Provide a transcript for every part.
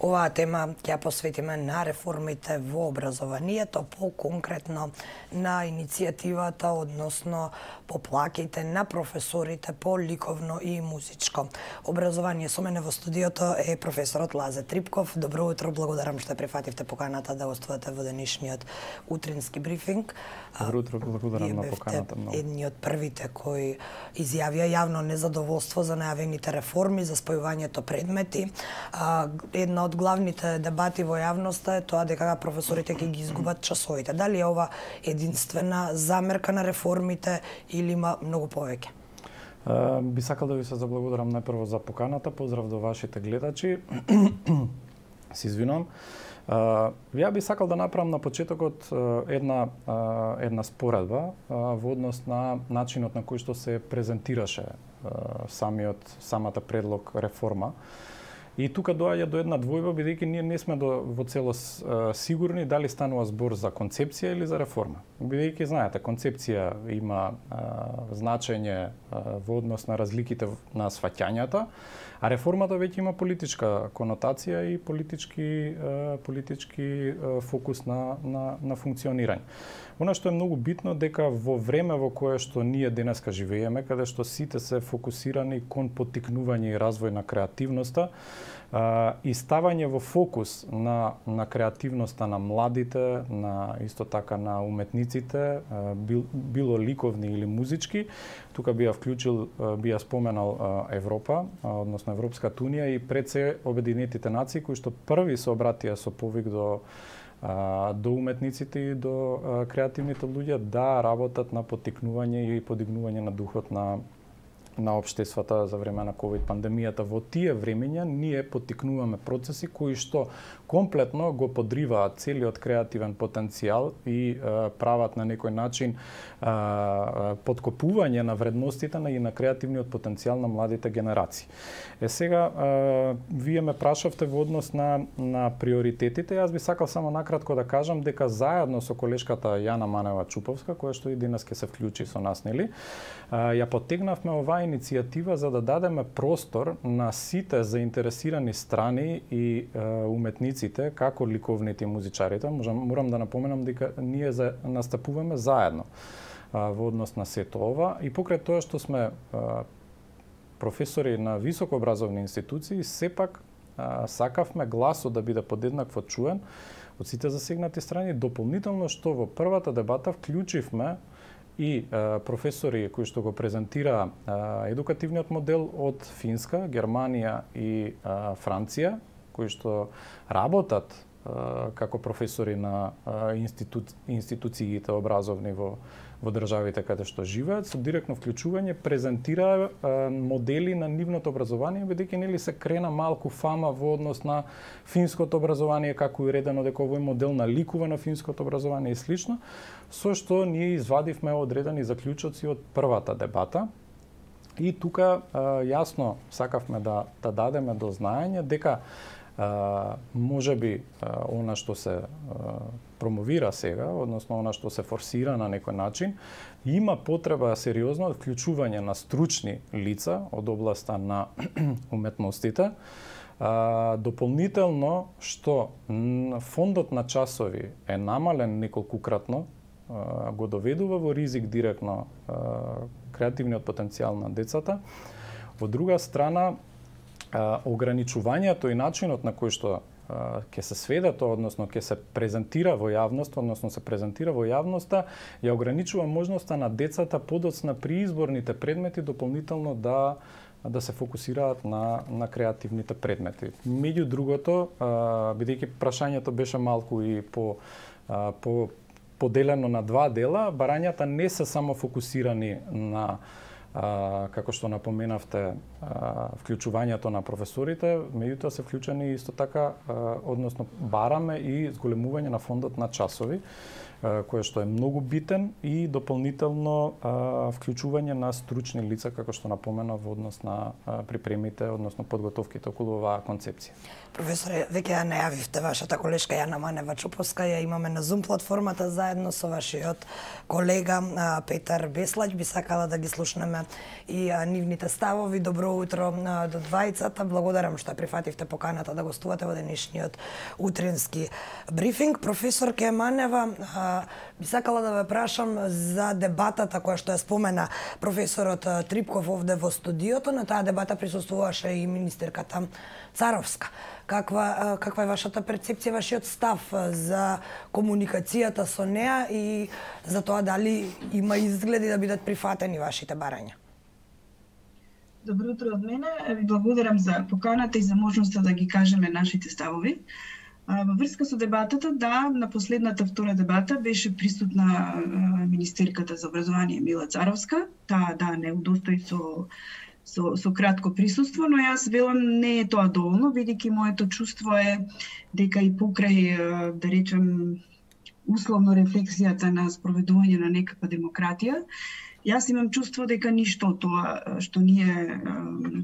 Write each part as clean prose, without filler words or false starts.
Оваа тема ќе посветиме на реформите во образованието, по-конкретно на иницијативата, односно по плаќите на професорите по ликовно и музичко образование. Со мене во студиото е професорот Лазе Трипков. Добро утро, благодарам што прифативте поканата да гостувате во денешниот утрински брифинг. Добро утро, благодарам на поканата. Едни од првите кои изјавија јавно незадоволство за најавените реформи, за спојувањето предмети. Една од главните дебати во јавноста е тоа дека професорите ќе ги изгубат часовите. Дали е ова единствена замерка на реформите или има многу повеќе? Би сакал да ви се заблагодарам најпрво за поканата. Поздрав до вашите гледачи. Се извинувам. Ја би сакал да направам на почетокот една споредба во однос на начинот на кој што се презентираше самата предлог реформа. И тука доаѓа до една двојба, бидејќи ние не сме во целост сигурни дали станува збор за концепција или за реформа. Бидејќи, знаете, концепција има значење во однос на разликите на сваќањата, а реформата веќе има политичка конотација и политички фокус на функционирање. Она што е многу битно дека во време во кое што ние денеска живееме, каде што сите се фокусирани кон поттикнување и развој на креативноста, и ставање во фокус на креативноста на младите, на исто така на уметниците, било ликовни или музички, тука би ја споменал Европа, односно Европската унија и пред се Обединетите нации, кои што први се обратија со повик до уметниците и до креативните луѓе да работат на поттикнување и подигнување на духот на општествата за време на ковид пандемијата. Во тие времења ние поттикнуваме процеси кои што комплетно го подриваат целиот креативен потенцијал и прават на некој начин подкопување на вредностите и на креативниот потенцијал на младите генерации. Сега, вие ме прашавте во однос на приоритетите. Јас би сакал само накратко да кажам дека заедно со колешката Јана Манева Чуповска, која што и денес ќе се вклучи со нас, нели, ја поттегнавме оваа иницијатива за да дадеме простор на сите заинтересирани страни и уметниците, како ликовните и музичарите. Морам да напоменам дека ние настапуваме заедно во однос на сето ова и покрај тоа што сме професори на високообразовни институции, сепак сакавме гласот да биде подеднакво чуен од сите засегнати страни, дополнително што во првата дебата вклучивме и професори кои што го презентира едукативниот модел од Финска, Германија и Франција, кои што работат како професори на институциите образовни во државите каде што живеат, со директно вклучување презентира модели на нивното образование, бидејќи нели се крена малку фама во однос на финското образование, како и редено дека овој модел наликува на финското образование и слично, со што ние извадивме одредени заклучоци од првата дебата. И тука јасно сакавме да дадеме до знаење дека можеби она што се промовира сега, односно она што се форсира на некој начин, има потреба сериозно од вклучување на стручни лица од областа на уметностите. Дополнително што фондот на часови е намален неколкукратно, го доведува во ризик директно креативниот потенцијал на децата. Од друга страна, ограничувањето и начинот на кој што ќе се сведе тоа, односно ќе се презентира во јавност, ја ограничува можноста на децата подоцна при изборните предмети дополнително да се фокусираат на креативните предмети. Меѓу другото, бидејќи прашањето беше малку и поделено на два дела, барањата не се само фокусирани на како што напоменавте, вклучувањето на професорите, меѓутоа се вклучени исто така, односно бараме и зголемување на фондот на часови, кој што е многу битен и дополнително вклучување на стручни лица, како што напомена во однос на припремите, односно подготовките околу оваа концепција. Професоре, веќе ја најавивте вашата колешка Јана Манева Чуповска, ја имаме на Zoom платформата заедно со вашиот колега Петар Беслаќ. Би сакала да ги слушнеме и нивните ставови. Добро Добро утро до двајцата. Благодарам што прифативте поканата да гостувате во денешниот утрински брифинг. Професор Кеманева, би сакала да ве прашам за дебатата која што ја спомена професорот Трипков овде во студиото. На таа дебата присуствуваше и министерката Царовска. Каква е вашата перцепција, вашиот став за комуникацијата со неа и за тоа дали има изгледи да бидат прифатени вашите барања? Добро утро од мене. Ви благодарам за поканата и за можноста да ги кажеме нашите ставови. Во врска со дебатата, да, на последната втора дебата беше присутна министерката за образование Мила Царовска. Таа, да, не удостои со кратко присуство, но јас велам не е тоа доволно, бидејќи моето чувство е дека и покрај, да речем, условно рефлексијата на спроведување на некаква демократија, јас имам чувство дека ништо од тоа што ние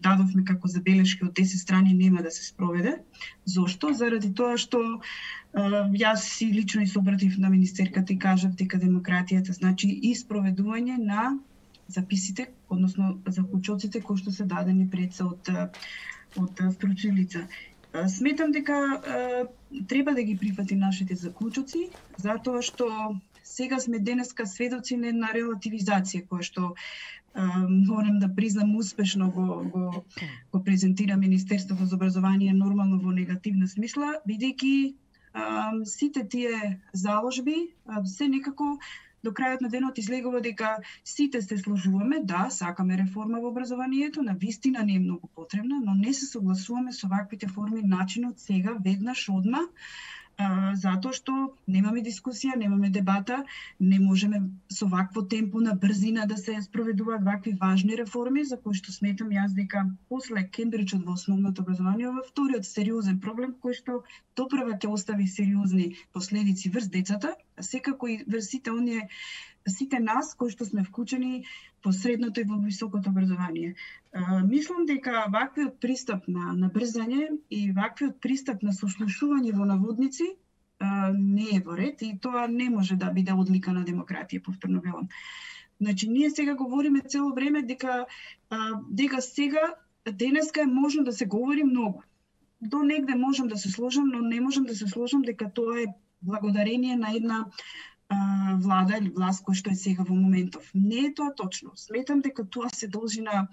дадовме како забелешки од 10 страни нема да се спроведе. Зошто? Заради тоа што јас и лично се обратив на министерката и кажав дека демократијата значи и спроведување на записите, односно заклучоците кои што се дадени пред се од стручни лица. Сметам дека треба да ги прифати нашите заклучоци, затоа што сега сме денеска сведоци на една релативизација која што морам да признам успешно го презентира Министерството за образование нормално во негативна смисла, бидејќи сите тие заложби се некако до крајот на денот излегува дека сите се сложуваме, да, сакаме реформа во образованието, навистина не е многу потребна, но не се согласуваме со ваквите форми начинот сега, веднаш, одма, затоа што немаме дискусија, немаме дебата, не можеме со вакво темпо на брзина да се спроведуваат вакви важни реформи, за кои што сметам јас дека после Кембриджот во основното образование во вториот сериозен проблем кој што допрва ќе остави сериозни последици врз децата, а секако и врз сите нас кои што сме вклучени во средното и во високото образование. Мислам дека ваквиот пристап на брзање и ваквиот пристап на сослушување во наводници не е во ред и тоа не може да биде одлика на демократија, повторно велам. Значи, ние сега говориме цело време дека сега, денеска е можно да се говори многу. До негде можам да се сложам, но не можам да се сложам дека тоа е благодарение на една влада или власт која што е сега во моментов. Не е тоа точно. Сметам дека тоа се должи на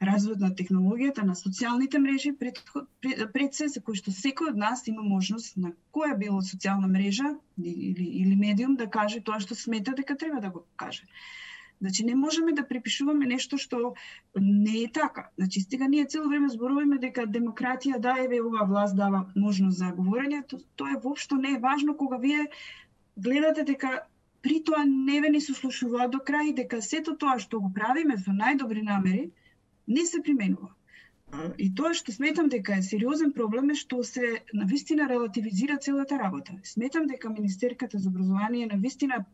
развојот на технологијата, на социјалните мрежи, пред се, за кои што секој од нас има можност на која било социјална мрежа или медиум да каже тоа што смета дека треба да го каже. Значи, не можеме да припишуваме нешто што не е така. Значи, сега ние цело време зборуваме дека демократија, да, еве оваа власт дава можност за говорење, тоа воопшто не е важно кога вие гледате дека при тоа не ве ни сослушуваат до крај, дека сето тоа што го правиме со најдобри намери не се применува. И тоа што сметам дека е сериозен проблем е што се навистина релативизира целата работа. Сметам дека Министерката за образование навистина,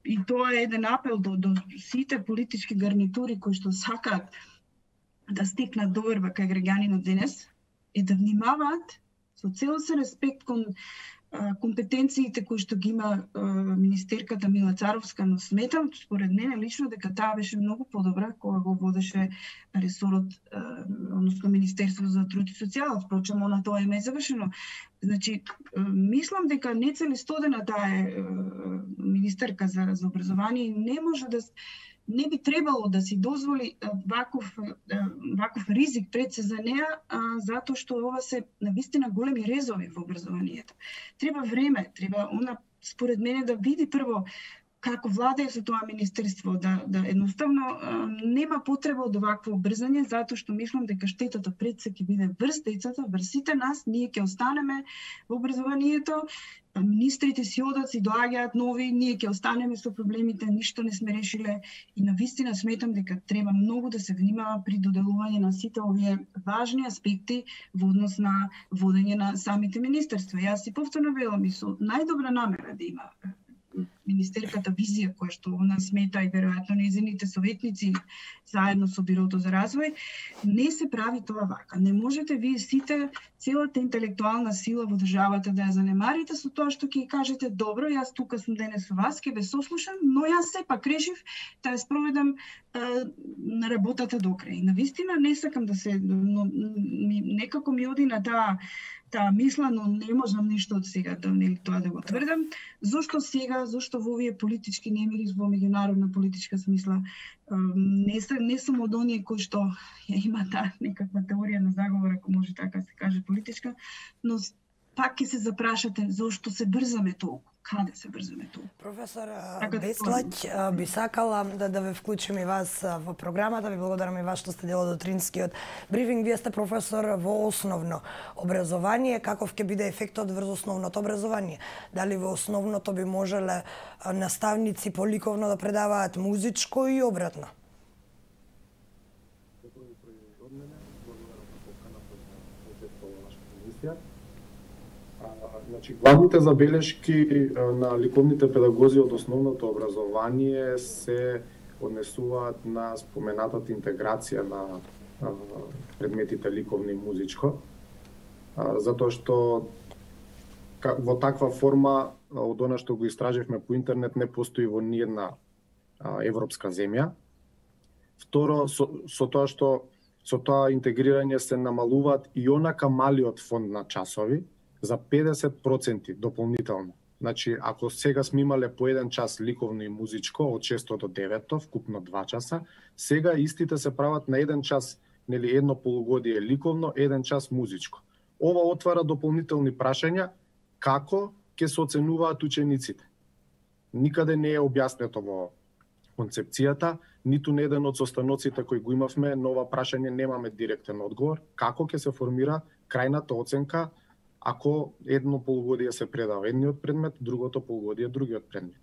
и тоа е еден апел до сите политички гарнитури кои што сакаат да стекнат доверба кај граѓанинот денес, и да внимаваат со целосен респект кон компетенциите кои што ги има министерката Мила Царовска, но сметам, според мене лично, дека таа беше многу подобра кога го водеше ресорот, односно Министерството за труд и социјала. Впрочем, она тоа е завршено. Значи, мислам дека не целистодена таа е министерка за образование и не може да не би требало да си дозволи ваков ризик пред се за неа, затоа што ова се навистина големи резови во образованието. Треба време, треба она според мене да види прво како владае со тоа министерство, да едноставно нема потреба од вакво брзање, затоа што мислам дека штетата пред се ќе биде врз децата, врз сите нас, ние ќе останеме во образованието, министрите си одат, си доаѓаат нови, ние ќе останеме со проблемите, ништо не сме решиле и навистина сметам дека треба многу да се внимава при доделување на сите овие важни аспекти во однос на водење на самите министерства. Јас си повторно велам и со најдобра намера да има министерката визија која што она смета и веројатно нејзините советници заедно со Бирото за развој, не се прави тоа вака. Не можете вие сите целата интелектуална сила во државата да ја занемарите со тоа што ќе кажете добро, јас тука сум денес со вас, ќе ве сослушам, но јас сепак решив да ја спроведам на работата до крај. Навистина не сакам да се, но некако ми оди на таа мисла, но не можам ништо од сега да тоа да го тврдам. Зошто сега, зошто во овие политички немири, во меѓународна политичка смисла, не сум од оние кои што ја има таа некаква теорија на заговор, ако може така се каже политичка, но пак ќе се запрашате зошто се брзаме толку. Каде се брзаме толку? Професор Беслаќ, би сакала да ве вклучим и вас во програмата. Ви благодарам и вас што сте дел од утринскиот брифинг. Вие сте професор во основно образование. Каков ќе биде ефектот врз основното образование? Дали во основното би можеле наставници по ликовно да предаваат музичко и обратно? Значи, главните забелешки на ликовните педагози од основното образование се однесуваат на споменатата интеграција на предметите ликовно и музичко, затоа што во таква форма, од она што го истраживме по интернет, не постои во ниедна европска земја. Второ, со тоа интегрирање се намалуваат и онака малиот фонд на часови, за 50% дополнително. Значи, ако сега сме имале по еден час ликовно и музичко од 6 до 9, вкупно 2 часа, сега истите се прават на еден час, нели едно полугодие ликовно, еден час музичко. Ова отвара дополнителни прашања како ќе се оценуваат учениците. Никаде не е објаснето во концепцијата, ниту на еден од состаноците кои го имавме, на ова прашање немаме директен одговор, како ќе се формира крајната оценка ако едно полугодие се предава едниот предмет, другото полугодие другиот предмет.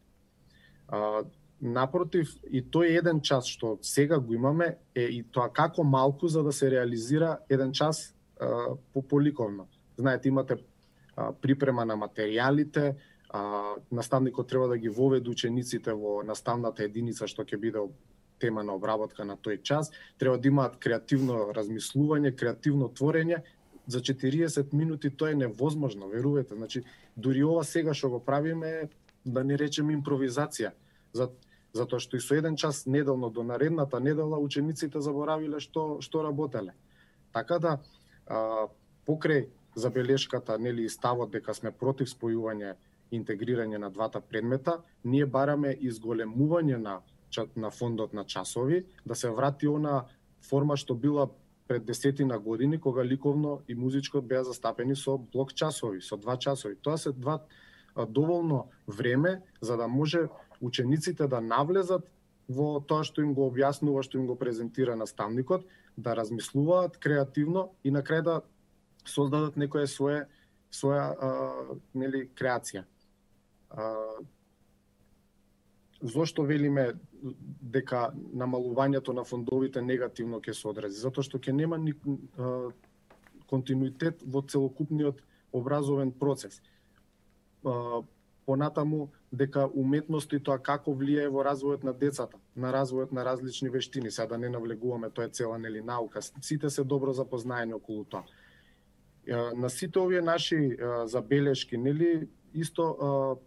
Напротив, и тој еден час што сега го имаме е и тоа како малку за да се реализира еден час по ликовно. Знаете, имате припрема на материјалите, наставникот треба да ги воведе учениците во наставната единица што ќе биде тема на обработка на тој час, треба да имаат креативно размислување, креативно творење. За 40 минути тоа е невозможно, верувате. Значи, дури ова сега што го правиме, да не речем импровизација. Затоа што и со еден час неделно до наредната недела учениците заборавиле што работеле. Така да, покрај забелешката, нели, ставот дека сме против спојување и интегрирање на двата предмета, ние бараме изголемување на фондот на часови, да се врати она форма што била пред 10 години, кога ликовно и музичко беа застапени со блок часови, со 2 часови. Тоа се доволно време за да може учениците да навлезат во тоа што им го објаснува, што им го презентира наставникот, да размислуваат креативно и на крај да создадат некоја своја нели креација. Зошто велиме дека намалувањето на фондовите негативно ќе се одрази? Затоа што ќе нема континуитет во целокупниот образовен процес. Понатаму дека уметност и тоа како влијае во развојот на децата, на развојот на различни вештини, сега да не навлегуваме, тоа е цела нели наука. Сите се добро запознаени околу тоа. На сите овие наши забелешки, нели, исто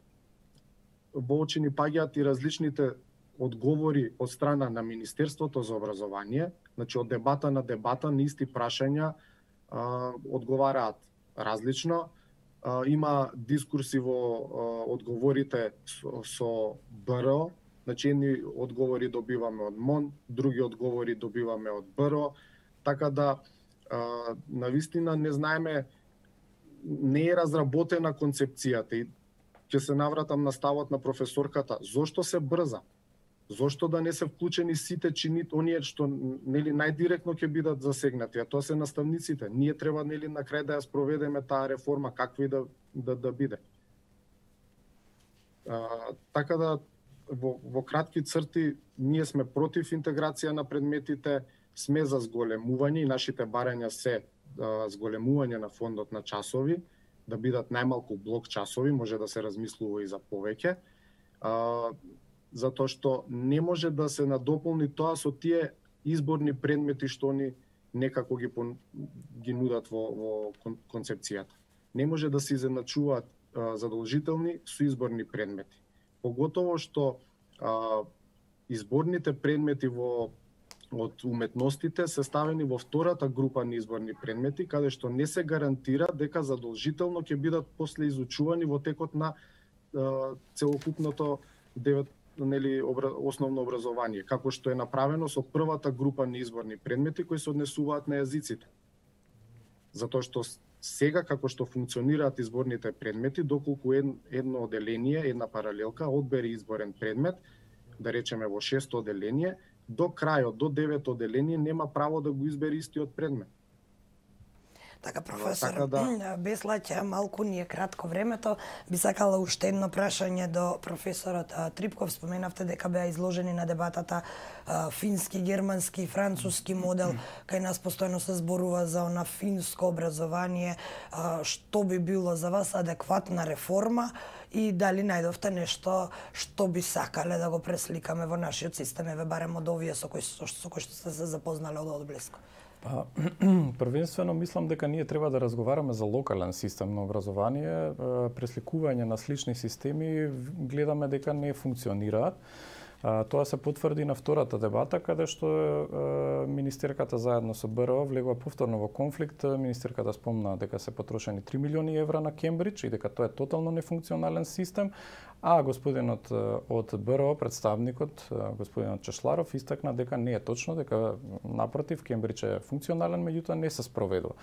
во очи ни паѓаат и различните одговори од страна на Министерството за образование, значи од дебата на дебата на исти прашања одговараат различно. Има дискурси во одговорите со БРО, значи едни одговори добиваме од МОН, други одговори добиваме од БРО, така да навистина не знаеме, не е разработена концепцијата и ќе се навратам на ставот на професорката. Зошто се брза? Зошто да не се вклучени сите чинит, оние што нели најдиректно ќе бидат засегнати, а тоа се наставниците. Ние треба нели на крај да ја спроведеме таа реформа, каква и да биде. Така да во кратки црти ние сме против интеграција на предметите, сме за зголемување и нашите барања се зголемување на фондот на часови, да бидат најмалку блок часови, може да се размислува и за повеќе. затоа што не може да се надополни тоа со тие изборни предмети што они некако ги нудат во концепцијата. Не може да се изедначуваат задолжителни со изборни предмети. Поготово што изборните предмети од уметностите се ставени во втората група на изборни предмети, каде што не се гарантира дека задолжително ќе бидат после изучувани во текот на целокупното основно образование, како што е направено со првата група на изборни предмети кои се однесуваат на јазиците. Затоа што сега како што функционираат изборните предмети, доколку едно оделение, една паралелка одбери изборен предмет, да речеме во 6-то оделение, до крајот, до 9-то оделение нема право да го избери истиот предмет. Така, професор Беслаќ, малку ни е кратко времето. Би сакала уште едно прашање до професорот Трипков. Споменавте дека беа изложени на дебатата фински, германски и француски модел. Кај нас постојано се зборува за она финско образование. Што би било за вас адекватна реформа и дали најдовте нешто што би сакале да го пресликаме во нашиот систем, барем од овие со кои што сте се запознале од одблиску? Првенствено мислам дека ние треба да разговараме за локален систем на образование. Пресликување на слични системи гледаме дека не функционираат. Тоа се потврди на втората дебата, каде што министерката заедно со БРО влегува повторно во конфликт. Министерката спомна дека се потрошени 3 милиони евра на Кембридж и дека тоа е тотално нефункционален систем, а господинот од БРО, представникот, господинот Чешларов, истакна дека не е точно, дека напротив, Кембридж е функционален, меѓутоа не се спроведува.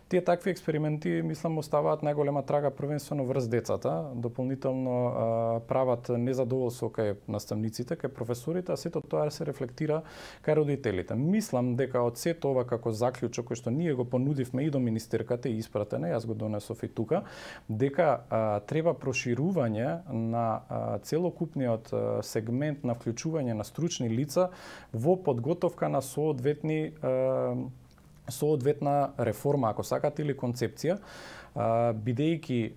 Тие такви експерименти, мислам, оставаат најголема трага првенствено врз децата, дополнително прават незадоволство кај наставниците, кај професорите, а сето тоа се рефлектира кај родителите. Мислам дека од сето ова како заклучок кој што ние го понудивме и до министерката и испратене, јас го донесов и тука, дека треба проширување на целокупниот сегмент на вклучување на стручни лица во подготовка на соодветна реформа, ако сакате, или концепција, бидејќи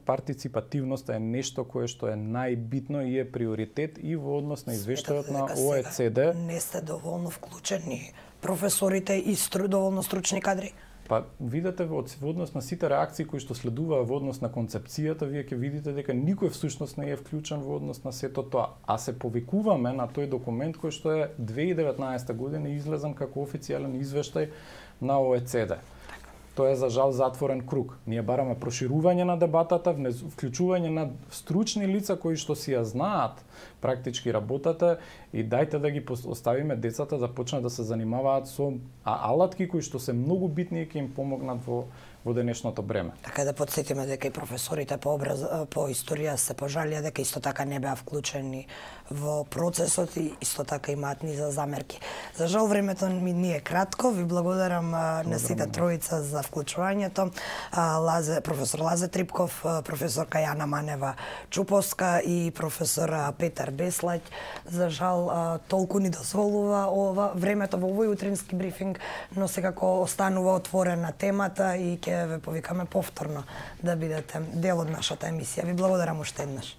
партиципативноста е нешто кое што е најбитно и е приоритет и во однос на извештајот на ОЕЦД. Не сте доволно вклучени професорите и доволно стручни кадри? Па видите во однос на сите реакции кои што следуваа во однос на концепцијата, вие ќе видите дека никој всушност не е вклучен во однос на сето тоа. А се повикуваме на тој документ кој што е 2019 година излезен како официјален извештај на ОЕЦД. Тоа е за жал затворен круг. Ние бараме проширување на дебатата, вклучување на стручни лица кои што си ја знаат практички работата и дајте да ги оставиме децата да почнат да се занимаваат со алатки кои што се многу битни и ќе им помогнат во денешното време. Така да потсетиме дека и професорите по историја се пожалија дека исто така не беа вклучени во процесот и исто така имаат низа замерки. За жал времето ми е кратко. Ви благодарам на сите тројца за вклучувањето. Професор Лазе Трипков, професорка Јана Манева Чуповска и професор Петар Беслаќ. За жал толку ни дозволува времето во овој утрински брифинг, но секако останува отворена темата и ќе ве повикаме повторно да бидете дел од нашата емисија. Ви благодарам уште еднаш.